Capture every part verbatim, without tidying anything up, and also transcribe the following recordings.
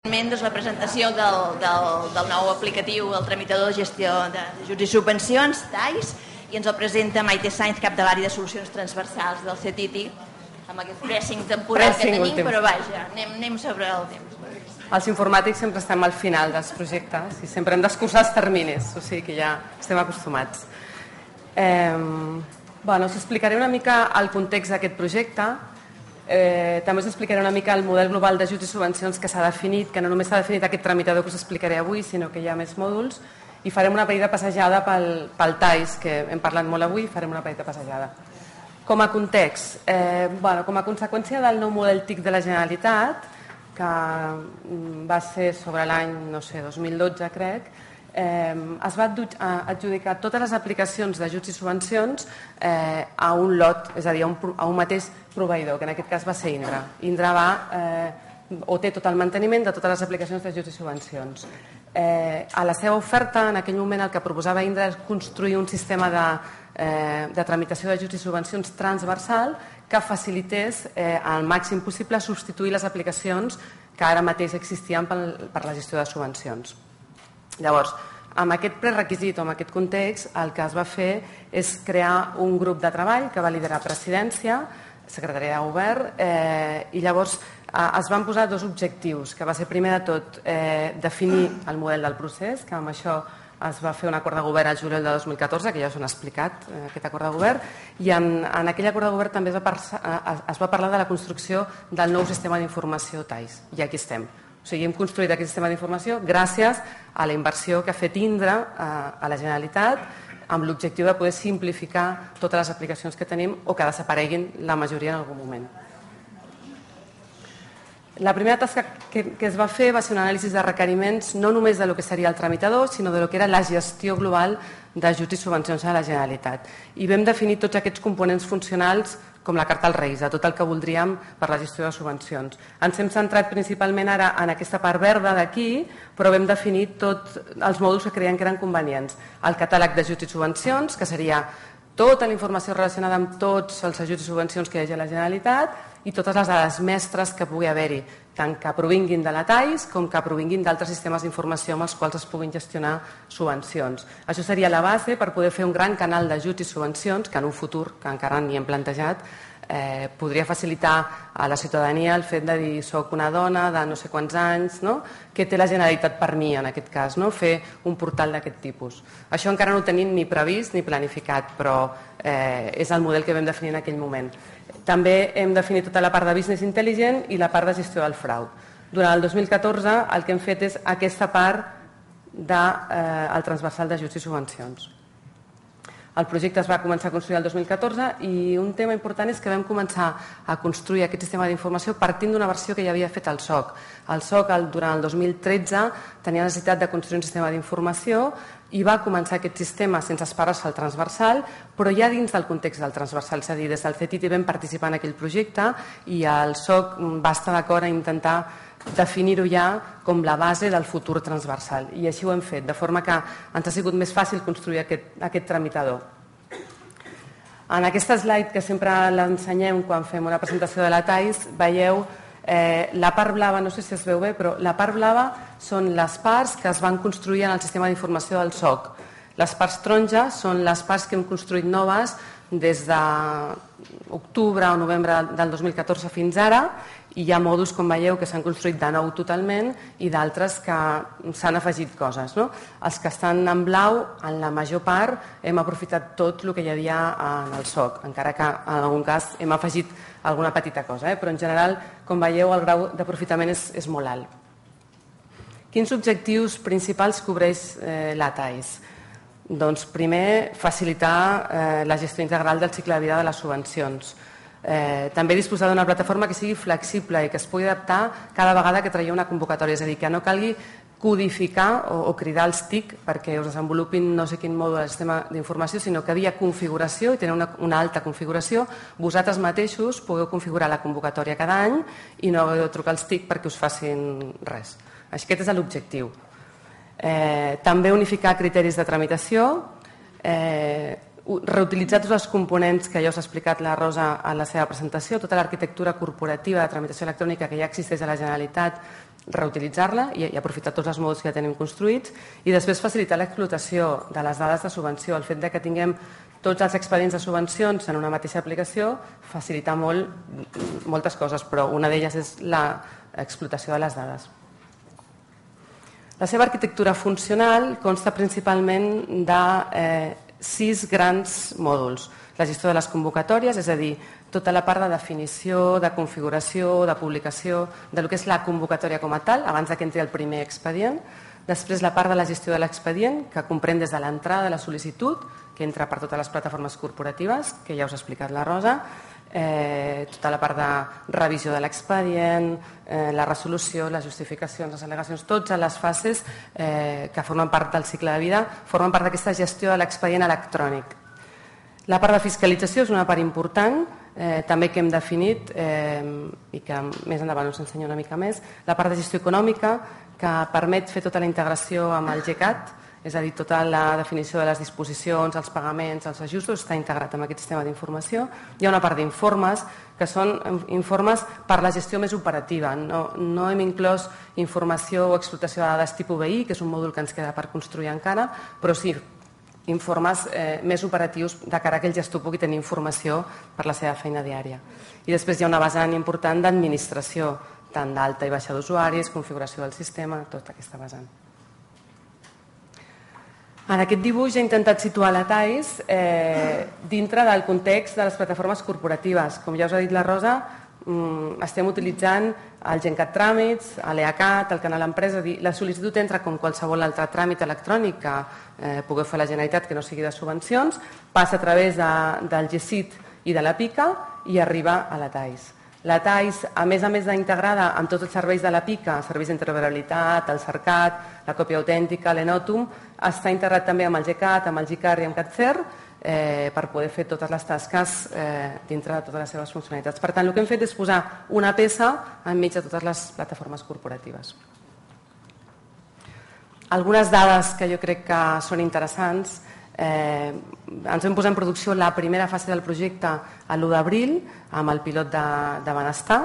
La presentació del, del, del nou aplicatiu, el tramitador de gestió d'ajuts i subvencions, T A I S, i ens el presenta Maite Sainz, cap de l'àrea de solucions transversals del C T I T I, amb aquest pressing temporal que tenim, però vaja, anem, anem sobre el temps. Els informàtics sempre estem al final dels projectes i sempre hem d'escurçar els terminis, o sigui que ja estem acostumats. Eh, bueno, us explicaré una mica el context d'aquest projecte. Eh, també us explicaré una mica el model global d'ajuts i subvencions que s'ha definit, que no només s'ha definit aquest tramitador que us explicaré avui, sinó que hi ha més mòduls, i farem una petita passejada pel, pel T A I S, que hem parlat molt avui, farem una petita passejada. Com a context, eh, bueno, com a conseqüència del nou model T I C de la Generalitat, que va ser sobre l'any, no sé, dos mil dotze, crec, Eh, es va adjudicar totes les aplicacions d'ajuts i subvencions eh, a un lot, és a dir, a un, a un mateix proveïdor, que en aquest cas va ser Indra. Indra va, eh, o té tot el manteniment de totes les aplicacions d'ajuts i subvencions. Eh, a la seva oferta, en aquell moment, el que proposava Indra és construir un sistema de, eh, de tramitació d'ajuts i subvencions transversal que facilités eh, al màxim possible substituir les aplicacions que ara mateix existien per, per la gestió de subvencions. Llavors, amb aquest prerequisit o amb aquest context, el que es va fer és crear un grup de treball que va liderar Presidència, Secretaria de Govern, eh, i llavors eh, es van posar dos objectius, que va ser primer de tot eh, definir el model del procés, que amb això es va fer un acord de govern al juliol de dos mil catorze, que ja us han explicat, eh, aquest acord de govern, i en, en aquell acord de govern també es va, par es va parlar de la construcció del nou sistema d'informació T A I S, i aquí estem. O sigui, hem construït aquest sistema d'informació gràcies a la inversió que ha fet Indra a la Generalitat amb l'objectiu de poder simplificar totes les aplicacions que tenim o que desapareguin la majoria en algun moment. La primera tasca que, que es va fer va ser un anàlisi de requeriments no només de lo que seria el tramitador, sinó de lo que era la gestió global d'ajuts i subvencions a la Generalitat. I vam definir tots aquests components funcionals com la carta als Reis, de tot el que voldríem per la gestió de subvencions. Ens hem centrat principalment ara en aquesta part verda d'aquí, però vam definir tots els mòduls que creiem que eren convenients. El catàleg d'ajuts i subvencions, que seria tota la informació relacionada amb tots els ajuts i subvencions que hi hagi a la Generalitat i totes les dades mestres que pugui haver-hi, tant que provinguin de la T A I S com que provinguin d'altres sistemes d'informació amb els quals es puguin gestionar subvencions. Això seria la base per poder fer un gran canal d'ajuts i subvencions que en un futur, que encara ni hem plantejat, eh, podria facilitar a la ciutadania el fet de dir soc una dona de no sé quants anys, no? Què té la Generalitat per mi en aquest cas, no? Fer un portal d'aquest tipus. Això encara no ho tenim ni previst ni planificat, però eh, és el model que vam definir en aquell moment. També hem definit tota la part de business intelligent i la part de gestió del frau. Durant el dos mil catorze el que hem fet és aquesta part del eh, transversal d'ajuts i subvencions. El projecte es va començar a construir el dos mil catorze i un tema important és que vam començar a construir aquest sistema d'informació partint d'una versió que ja havia fet el S O C. El S O C durant el dos mil tretze tenia necessitat de construir un sistema d'informació i va començar aquest sistema sense esperar-se al transversal, però ja dins del context del transversal, és a dir, des del C T I T I vam participar en aquell projecte i el S O C va estar d'acord a intentar definir-ho ja com la base del futur transversal. I així ho hem fet, de forma que ens ha sigut més fàcil construir aquest, aquest tramitador. En aquesta slide, que sempre l'ensenyem quan fem una presentació de la T A I S, veieu eh, la part blava, no sé si es veu bé, però la part blava són les parts que es van construir en el sistema d'informació del S O C. Les parts taronges són les parts que hem construït noves des d'octubre o novembre del dos mil catorze fins ara, i hi ha mòduls, com veieu, que s'han construït de nou totalment i d'altres que s'han afegit coses. No? Els que estan en blau, en la major part, hem aprofitat tot el que hi havia en el S O C, encara que en algun cas hem afegit alguna petita cosa, eh? Però en general, com veieu, el grau d'aprofitament és, és molt alt. Quins objectius principals cobreix eh, la T A I S? Doncs primer, facilitar eh, la gestió integral del cicle de vida de les subvencions. Eh, també disposar d'una plataforma que sigui flexible i que es pugui adaptar cada vegada que traieu una convocatòria, és a dir, que no calgui codificar o, o cridar els T I C perquè us desenvolupin no sé quin mòdul del sistema d'informació, sinó que via configuració i tenir una, una alta configuració, vosaltres mateixos podeu configurar la convocatòria cada any i no heu de trucar als T I C perquè us facin res. Aquest és l'objectiu. Eh, també unificar criteris de tramitació, eh, reutilitzar tots els components que ja us ha explicat la Rosa en la seva presentació, tota l'arquitectura corporativa de tramitació electrònica que ja existeix a la Generalitat reutilitzar-la i aprofitar tots els mòduls que ja tenim construïts, i després facilitar l'explotació de les dades de subvenció. El fet de que tinguem tots els expedients de subvencions en una mateixa aplicació facilita molt, moltes coses, però una d'elles és l'explotació de les dades. La seva arquitectura funcional consta principalment de eh, sis grans mòduls. La gestió de les convocatòries, és a dir, tota la part de definició, de configuració, de publicació, de lo que és la convocatòria com a tal, abans que entri el primer expedient. Després la part de la gestió de l'expedient, que comprèn des de l'entrada de la sol·licitud, que entra per totes les plataformes corporatives, que ja us ha explicat la Rosa, eh, tota la part de revisió de l'expedient, eh, la resolució, les justificacions, les al·legacions, totes les fases eh, que formen part del cicle de vida, formen part d'aquesta gestió de l'expedient electrònic. La part de fiscalització és una part important, eh, també que hem definit, eh, i que més endavant us ensenyo una mica més, la part de gestió econòmica, que permet fer tota la integració amb el GECAT, és a dir, tota la definició de les disposicions, els pagaments, els ajustos, està integrat en aquest sistema d'informació. Hi ha una part d'informes, que són informes per la gestió més operativa. No, no hem inclòs informació o explotació de dades tipus B I, que és un mòdul que ens queda per construir encara, però sí informes eh, més operatius de cara que el gestor pugui tenir informació per la seva feina diària. I després hi ha una vessant important d'administració, tant d'alta i baixa d'usuaris, configuració del sistema, tota aquesta vessant. En aquest dibuix he intentat situar la T A I S eh, dintre del context de les plataformes corporatives. Com ja us ha dit la Rosa, mm, estem utilitzant el GenCat Tràmits, l'EACAT, el canal empresa, dir, la sol·licitud entra com qualsevol altre tràmit electrònic que eh, pugueu fer la Generalitat que no sigui de subvencions, passa a través de, del G S I T i de la PICA i arriba a la T A I S. La T A I S, a més a més d'integrada amb tots els serveis de la PICA, serveis d'interoperabilitat, el CERCAT, la còpia autèntica, l'Enotum, està integrat també amb el GECAT, amb el GICAR i amb CatCer eh, per poder fer totes les tasques eh, dintre de totes les seves funcionalitats. Per tant, el que hem fet és posar una peça enmig de totes les plataformes corporatives. Algunes dades que jo crec que són interessants. Eh, ens vam posar en producció la primera fase del projecte a l'u d'abril amb el pilot de, de benestar.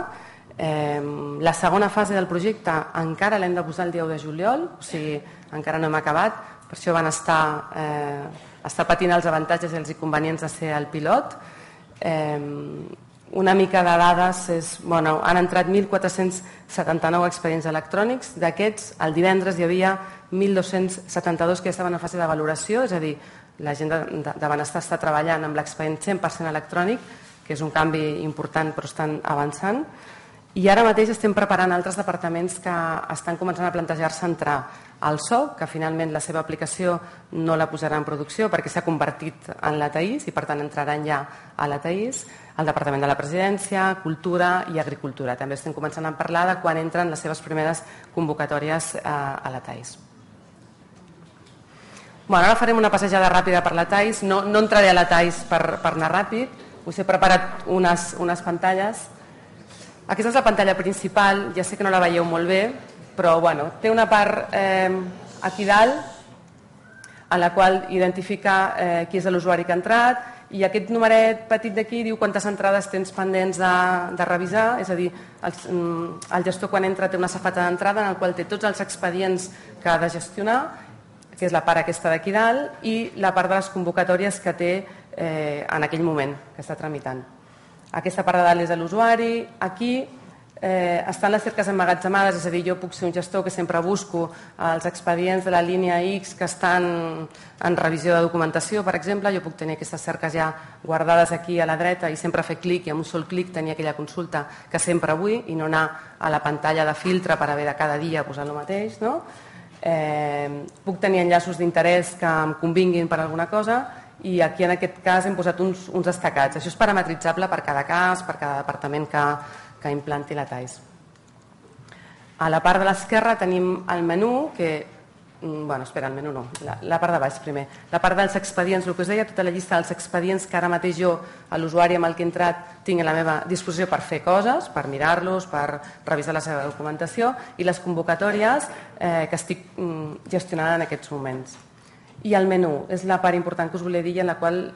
Eh, la segona fase del projecte encara l'hem de posar el dia u de juliol, o sigui, encara no hem acabat, per això benestar eh, està patint els avantatges i els inconvenients de ser el pilot. Eh, una mica de dades és, bueno, han entrat mil quatre-cents setanta-nou expedients electrònics, d'aquests el divendres hi havia mil dos-cents setanta-dos que estaven en fase de valoració, és a dir, la gent de, de, de benestar està treballant amb l'expedient cent per cent electrònic, que és un canvi important però estan avançant, i ara mateix estem preparant altres departaments que estan començant a plantejar-se entrar al S O C, que finalment la seva aplicació no la posarà en producció perquè s'ha convertit en la T A I S i per tant entraran ja a la T A I S, el Departament de la Presidència, Cultura i Agricultura. També estem començant a parlar de quan entren les seves primeres convocatòries a, a la T A I S. Bueno, ara farem una passejada ràpida per la T A I S, no, no entraré a la T A I S per, per anar ràpid, us he preparat unes, unes pantalles. Aquesta és la pantalla principal, ja sé que no la veieu molt bé, però bueno, té una part eh, aquí dalt en la qual identifica eh, qui és l'usuari que ha entrat, i aquest numeret petit d'aquí diu quantes entrades tens pendents de, de revisar, és a dir, el, el gestor quan entra té una safata d'entrada en el qual té tots els expedients que ha de gestionar, que és la part aquesta d'aquí dalt, i la part de les convocatòries que té eh, en aquell moment que està tramitant. Aquesta part de dalt és de l'usuari. Aquí eh, estan les cerques emmagatzemades, és a dir, jo puc ser un gestor que sempre busco els expedients de la línia X que estan en revisió de documentació, per exemple, jo puc tenir aquestes cerques ja guardades aquí a la dreta i sempre fer clic i amb un sol clic tenir aquella consulta que sempre vull i no anar a la pantalla de filtre per haver de cada dia posar el mateix, no? Eh, puc tenir enllaços d'interès que em convinguin per alguna cosa i aquí en aquest cas hem posat uns, uns destacats. Això és parametritzable per cada cas, per cada departament que, que implanti la T A I S. A la part de l'esquerra tenim el menú que... Bueno, espera, el menú no, la, la part de baix primer. La part dels expedients, el que us deia, tota la llista dels expedients que ara mateix jo, a l'usuari amb el que he entrat, tinc a la meva disposició per fer coses, per mirar-los, per revisar la seva documentació, i les convocatòries eh, que estic mm, gestionant en aquests moments. I el menú és la part important que us volia dir, en la qual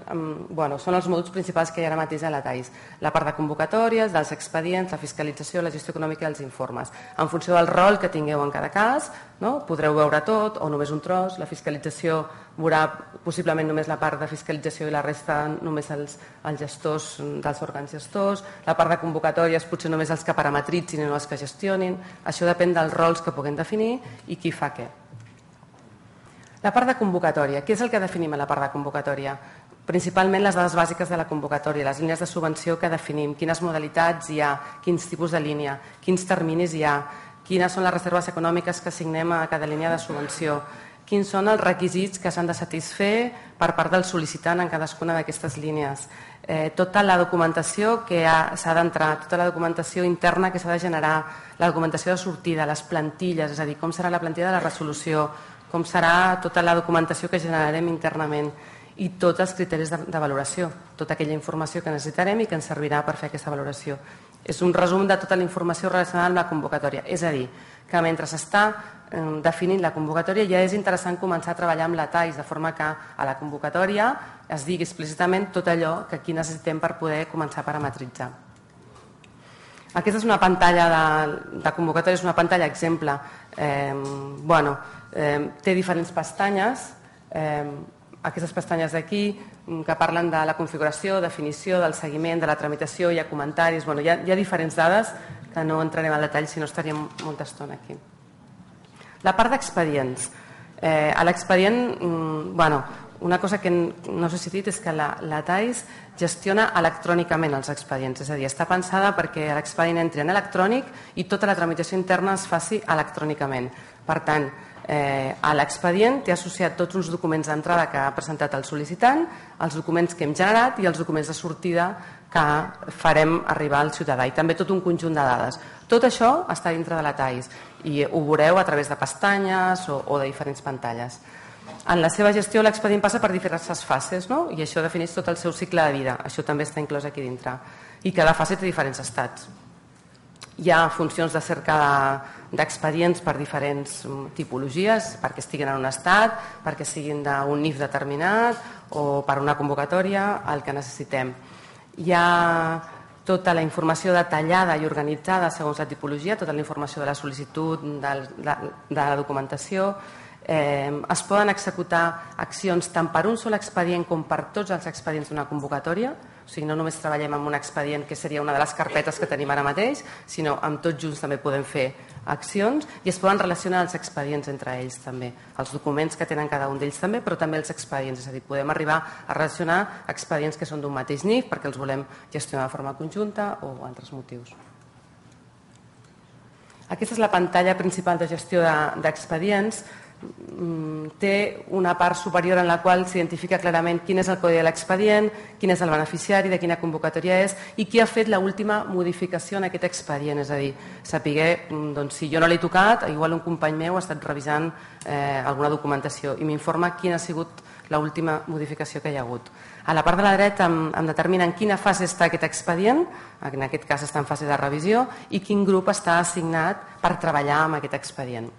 bueno, són els mòduls principals que hi ha ara mateix a la T A I S. La part de convocatòries, dels expedients, la fiscalització, la gestió econòmica i els informes. En funció del rol que tingueu en cada cas, no? Podreu veure tot o només un tros. La fiscalització veurà possiblement només la part de fiscalització i la resta només els, els gestors dels òrgans gestors. La part de convocatòries potser només els que parametritzin i no els que gestionin. Això depèn dels rols que puguem definir i qui fa què. La part de convocatòria. Què és el que definim a la part de convocatòria? Principalment les dades bàsiques de la convocatòria, les línies de subvenció que definim, quines modalitats hi ha, quins tipus de línia, quins terminis hi ha, quines són les reserves econòmiques que assignem a cada línia de subvenció, quins són els requisits que s'han de satisfer per part del sol·licitant en cadascuna d'aquestes línies, eh, tota la documentació que s'ha d'entrar, tota la documentació interna que s'ha de generar, la documentació de sortida, les plantilles, és a dir, com serà la plantilla de la resolució, com serà tota la documentació que generarem internament i tots els criteris de, de valoració, tota aquella informació que necessitarem i que ens servirà per fer aquesta valoració. És un resum de tota la informació relacionada amb la convocatòria, és a dir, que mentre s'està eh, definint la convocatòria ja és interessant començar a treballar amb la T A I S, de forma que a la convocatòria es digui explícitament tot allò que aquí necessitem per poder començar a parametritzar. Aquesta és una pantalla de, de convocatòria, és una pantalla exemple. Eh, bueno, eh, té diferents pestanyes, eh, aquestes pestanyes d'aquí que parlen de la configuració, definició, del seguiment, de la tramitació, hi ha comentaris, bueno, hi, ha, hi ha diferents dades que no entrarem al detall si no estaríem molta estona aquí. La part d'expedients. Eh, a l'expedient, mm, bueno, una cosa que no sé si he dit és que la, la T A I S gestiona electrònicament els expedients, és a dir, està pensada perquè l'expedient entri en electrònic i tota la tramitació interna es faci electrònicament. Per tant, eh, a l'expedient té associat tots uns documents d'entrada que ha presentat el sol·licitant, els documents que hem generat i els documents de sortida que farem arribar al ciutadà i també tot un conjunt de dades. Tot això està dintre de la T A I S i ho veureu a través de pestanyes o, o de diferents pantalles. En la seva gestió l'expedient passa per diverses fases, no? I això defineix tot el seu cicle de vida. Això també està inclòs aquí dintre. I cada fase té diferents estats. Hi ha funcions de cerca d'expedients per diferents tipologies, perquè estiguin en un estat, perquè siguin d'un N I F determinat o per una convocatòria, el que necessitem. Hi ha tota la informació detallada i organitzada segons la tipologia, tota la informació de la sol·licitud, de, de, de la documentació. Eh, es poden executar accions tant per un sol expedient com per tots els expedients d'una convocatòria, o sigui, no només treballem amb un expedient que seria una de les carpetes que tenim ara mateix, sinó amb tots junts també podem fer accions i es poden relacionar els expedients entre ells també, els documents que tenen cada un d'ells també, però també els expedients, és a dir, podem arribar a relacionar expedients que són d'un mateix N I F perquè els volem gestionar de forma conjunta o altres motius. Aquesta és la pantalla principal de gestió d'expedients. Té una part superior en la qual s'identifica clarament quin és el codi de l'expedient, quin és el beneficiari, de quina convocatòria és i qui ha fet l'última modificació en aquest expedient. És a dir, saber doncs, si jo no l'he tocat, igual un company meu ha estat revisant eh, alguna documentació i m'informa quina ha sigut l'última modificació que hi ha hagut. A la part de la dreta em, em determina en quina fase està aquest expedient, en aquest cas està en fase de revisió, i quin grup està assignat per treballar amb aquest expedient.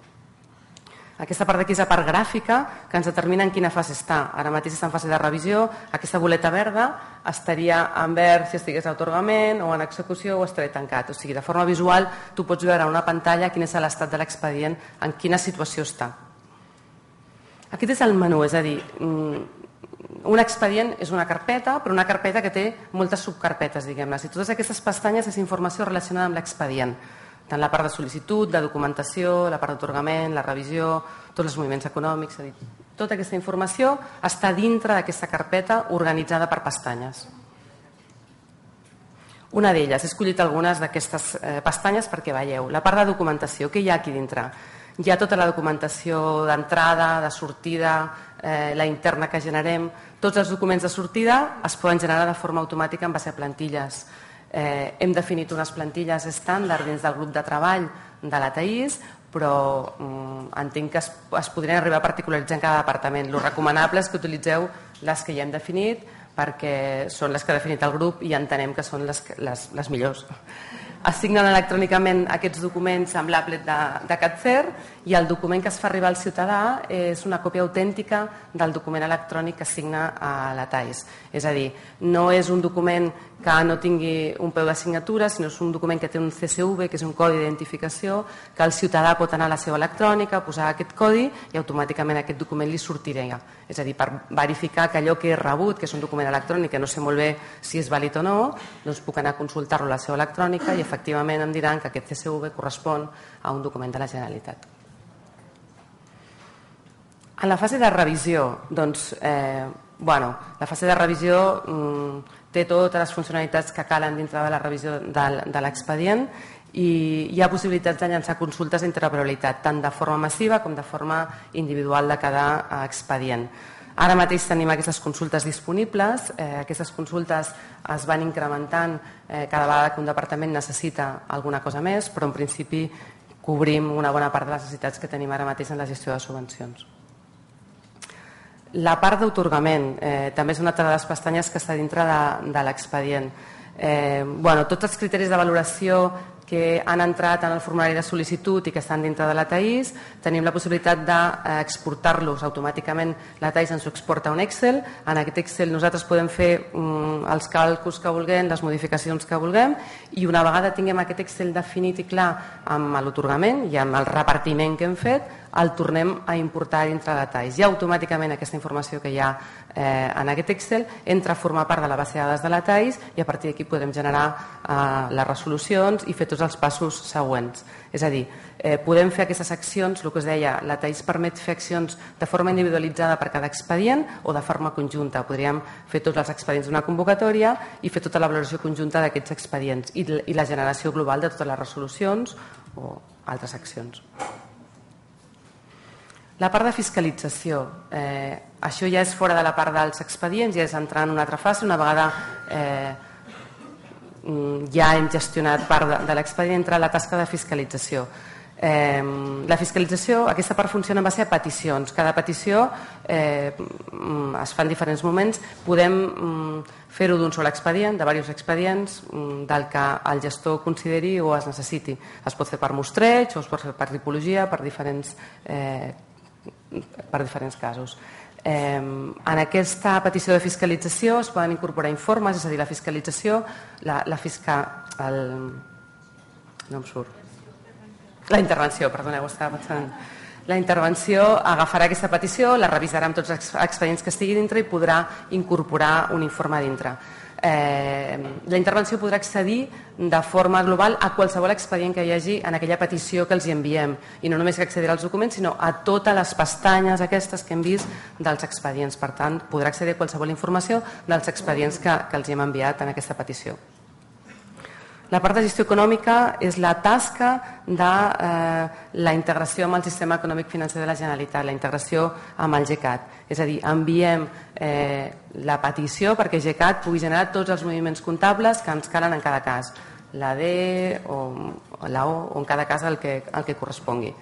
Aquesta part d'aquí és la part gràfica que ens determina en quina fase està. Ara mateix està en fase de revisió. Aquesta boleta verda estaria en verd si estigués a atorgament o en execució o estaria tancat. O sigui, de forma visual tu pots veure en una pantalla quin és l'estat de l'expedient, en quina situació està. Aquest és el menú, és a dir, un expedient és una carpeta, però una carpeta que té moltes subcarpetes, diguem-ne. I totes aquestes pestanyes és informació relacionada amb l'expedient. Tant la part de sol·licitud, de documentació, la part d'atorgament, la revisió, tots els moviments econòmics, és a dir, tota aquesta informació està dintre d'aquesta carpeta organitzada per pestanyes. Una d'elles, he escollit algunes d'aquestes eh, pestanyes perquè veieu. La part de documentació, què hi ha aquí dintre? Hi ha tota la documentació d'entrada, de sortida, eh, la interna que generem. Tots els documents de sortida es poden generar de forma automàtica en base a plantilles. Eh, hem definit unes plantilles estàndard dins del grup de treball de la T A I S, però mm, entenc que es, es podrien arribar a particularitzar en cada departament. Lo recomanable és que utilitzeu les que ja hem definit perquè són les que ha definit el grup i entenem que són les, les, les millors. Assignen electrònicament aquests documents amb l'applet de, de CatCer i el document que es fa arribar al ciutadà és una còpia autèntica del document electrònic que signa a la TAIS. És a dir, no és un document que no tingui un peu de signatura, sinó és un document que té un C S V, que és un codi d'identificació, que el ciutadà pot anar a la seva electrònica, posar aquest codi i automàticament aquest document li sortirà. És a dir, per verificar que allò que he rebut, que és un document electrònic, que no sé molt bé si és vàlid o no, doncs puc anar a consultar-lo a la seva electrònica i efectivament em diran que aquest C S V correspon a un document de la Generalitat. En la fase de revisió, doncs, eh, bueno, la fase de revisió mm, té totes les funcionalitats que calen dintre de la revisió de, de l'expedient i hi ha possibilitats de llançar consultes d'interoperabilitat, tant de forma massiva com de forma individual de cada expedient. Ara mateix tenim aquestes consultes disponibles, eh, aquestes consultes es van incrementant eh, cada vegada que un departament necessita alguna cosa més, però en principi cobrim una bona part de les necessitats que tenim ara mateix en la gestió de subvencions. La part d'atorgament eh, també és una altra de les pestanyes que està dintre de, de l'expedient. Eh, bueno, tots els criteris de valoració que han entrat en el formulari de sol·licitud i que estan dintre de la TAIS, tenim la possibilitat d'exportar-los automàticament. La TAIS ens ho exporta a un Excel. En aquest Excel nosaltres podem fer um, els càlculs que vulguem, les modificacions que vulguem, i una vegada tinguem aquest Excel definit i clar amb l'atorgament i amb el repartiment que hem fet, el tornem a importar dintre de la TAIS. I automàticament aquesta informació que hi ha eh, en aquest Excel entra a formar part de la base de dades de la TAIS i a partir d'aquí podem generar eh, les resolucions i fer tots els passos següents. És a dir, eh, podem fer aquestes accions, el que us deia, la TAIS permet fer accions de forma individualitzada per cada expedient o de forma conjunta. Podríem fer tots els expedients d'una convocatòria i fer tota la valoració conjunta d'aquests expedients i, i la generació global de totes les resolucions o altres accions. La part de fiscalització, eh, això ja és fora de la part dels expedients, ja és entrar en una altra fase, una vegada eh, ja hem gestionat part de, de l'expedient, entra la tasca de fiscalització. Eh, la fiscalització, aquesta part funciona en base a peticions. Cada petició eh, es fa en diferents moments. Podem mm, fer-ho d'un sol expedient, de diversos expedients, mm, del que el gestor consideri o es necessiti. Es pot fer per mostreig o es pot fer per tipologia, per diferents eh, per diferents casos. Eh, en aquesta petició de fiscalització es poden incorporar informes, és a dir, la fiscalització, la, la fisca... El, no em surt. La intervenció, perdoneu, estava pensant. La intervenció agafarà aquesta petició, la revisarà amb tots els expedients que estigui dintre i podrà incorporar un informe dintre. Eh, la intervenció podrà accedir de forma global a qualsevol expedient que hi hagi en aquella petició que els hi enviem i no només que accedirà als documents sinó a totes les pestanyes aquestes que hem vist dels expedients. Per tant, podrà accedir a qualsevol informació dels expedients que, que els hi hem enviat en aquesta petició. La part de gestió econòmica és la tasca de eh, la integració amb el sistema econòmic financer de la Generalitat, la integració amb el GECAT. És a dir, enviem eh, la petició perquè GECAT pugui generar tots els moviments comptables que ens calen en cada cas, la D o la O, o en cada cas el que, el que correspongui.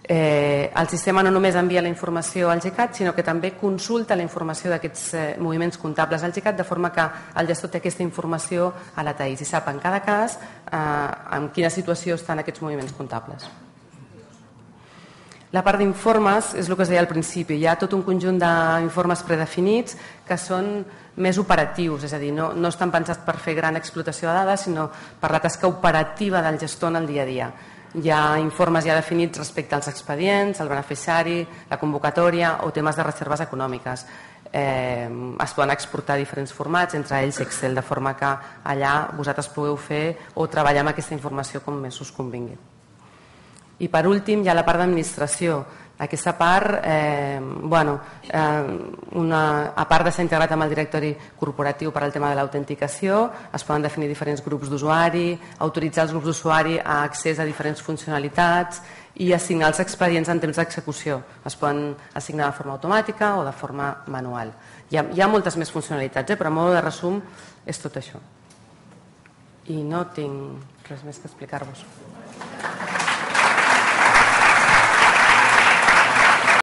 Eh, el sistema no només envia la informació al GECAT, sinó que també consulta la informació d'aquests eh, moviments comptables al GECAT, de forma que el gestor té aquesta informació a la TAIS i sap en cada cas eh, en quina situació estan aquests moviments comptables. La part d'informes és el que es deia al principi. Hi ha tot un conjunt d'informes predefinits que són més operatius, és a dir, no, no estan pensats per fer gran explotació de dades, sinó per la tasca operativa del gestor en el dia a dia. Hi ha informes ja definits respecte als expedients, el beneficiari, la convocatòria o temes de reserves econòmiques. Eh, es poden exportar diferents formats, entre ells Excel, de forma que allà vosaltres pugueu fer o treballar amb aquesta informació com més us convingui. I per últim hi ha la part d'administració. Aquesta part, eh, bueno, eh, una, a part de ser integrat amb el directori corporatiu per al tema de l'autenticació, es poden definir diferents grups d'usuari, autoritzar els grups d'usuari a accés a diferents funcionalitats i assignar els expedients en temps d'execució. Es poden assignar de forma automàtica o de forma manual. Hi ha, hi ha moltes més funcionalitats, eh, però a mode de resum és tot això. I no tinc res més que explicar-vos.